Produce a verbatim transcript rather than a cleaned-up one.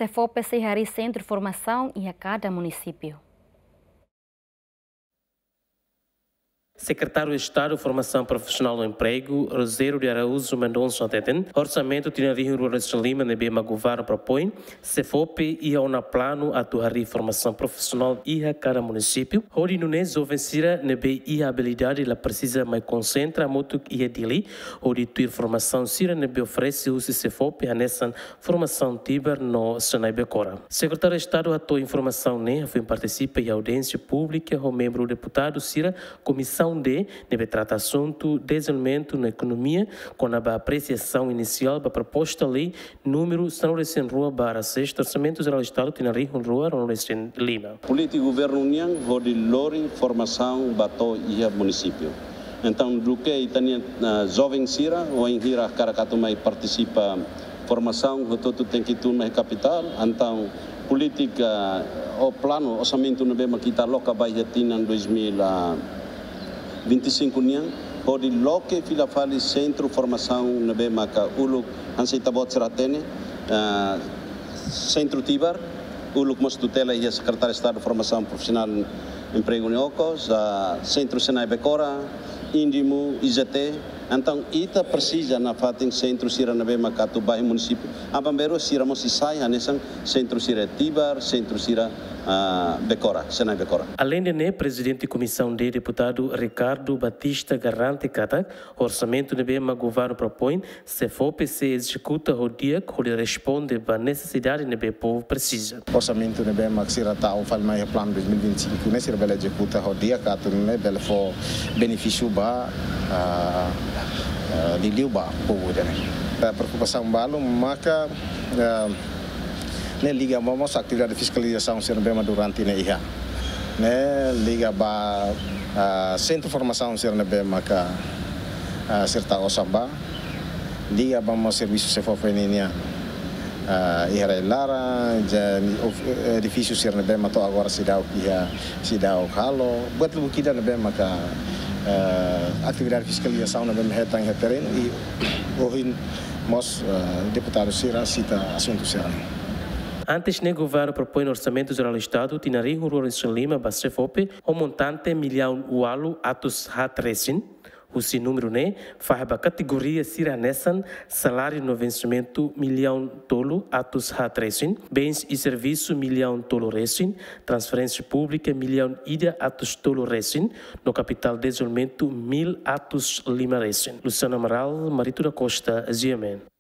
SEFOPE sei harii sentru formasaun iha kada munisípiu. Sekretáriu Estadu Formasaun Profisionál no Empregu, Rogério de Araújo Mendonça, hateten orsamentu tinan rihun rua resin lima ne'ebé mak governu propoin, SEFOPE iha ona planu atu harii formasaun profisionál iha kada munisípiu, hodi nune'e joven sira ne'ebé iha abilidade la presiza mai konsentra hamutuk iha Dili, hodi tuir formasaun sira ne'ebé oferese husi SEFOPE hanesan formasaun Tibar no Senai Becora. Sekretáriu Estadu hato'o informasaun ne'e hafoin partisipa iha audiénsia públika ho membru deputadu sira Komisaun D ne'ebé trata asuntu dezenvolvimentu no ekonomia, kona-ba apresiasaun inisiál ba proposta lei númeru sanulu resin rua barra seis, Orsamentu Jerál Estadu tinan rihun rua ruanulu resin lima. Polítika governu nian hodi lori formasaun ba to'o iha munisípiu. Entaun, duké ita-nia, ah, joven sira, wainhira hakarak atu mai partisipa formasaun, hotu-hotu tenke tun mai kapitál, entaun polítika, ou planu, orsamentu ne'ebé mak ita aloka ba iha tinan dois mil e vinte e cinco nian, hodi loke fila fali sentru formasaun ne'ebé maka uluk hanesan ita-boot sira hatene, ah, sentru Tibar, uluk mós tutela iha Sekretáriu Estadu Formasaun Profisionál, Empregu no Okos, ah, sentru Senai Becora, Indimu, I Z T. Entaun, ita presiza nafatin sentru sira ne'ebé maka atu ba iha munisípiu. Aban-bainrua sira mós sei sai hanesan sentru sira Tibar, sentru sira, ah, Becora, Senai Becora. Aleinde ne'e, Prezidente Komisaun D, Deputadu Ricardo Batista, garante katak orsamentu ne'ebé mak governu propoin, SEFOPE sei ezekuta ho di'ak hodi responde ba nesesidade ne'ebé povu presiza. Orsamentu ne'ebé mak sira tau fali mai iha planu dois mil e vinte e cinco ne'e, sira bele ezekuta ho di'ak atu nune'e bele fó benefísiu ba, ah, ah, liuliu ba povu ida-ne'e. Eh, preokupasaun balu maka, eh, ne'e liga mós atividade fiskalizasaun sira ne'ebé mak durante ne'e iha. Ne'e liga ba, ah, sentru formasaun sira ne'ebé maka, ah, sira tau osan ba. Liga ba mós servisu SEFOPE nian, ah, iha rai-laran, ja, of-, edifísiu sira ne'ebé mak to'o agora seidauk iha, seidauk halo. Buat lubuk ida ne'ebé maka, ah, atividade fiskalizasaun ne'ebé mak hetan iha terrenu i ohin mós, ah, deputadu sira sita asuntu sira-ne'e. Antes ne'e, governu propoin Orsamentu Jerál Estadu tinan rihun rua resin lima ba SEFOPE ho montante millaun ualu atus haat resin. Husi númeru ne'e, fahe ba kategoria sira hanesan saláriu no vensimentu millaun tolu atus haat resin, bens i servisu millaun tolu resin, transferénsia públika millaun ida atus tolu resin, no kapitál dezenvolvimentu mil atus lima resin. Luciano Amaral, Marito da Costa, G M N.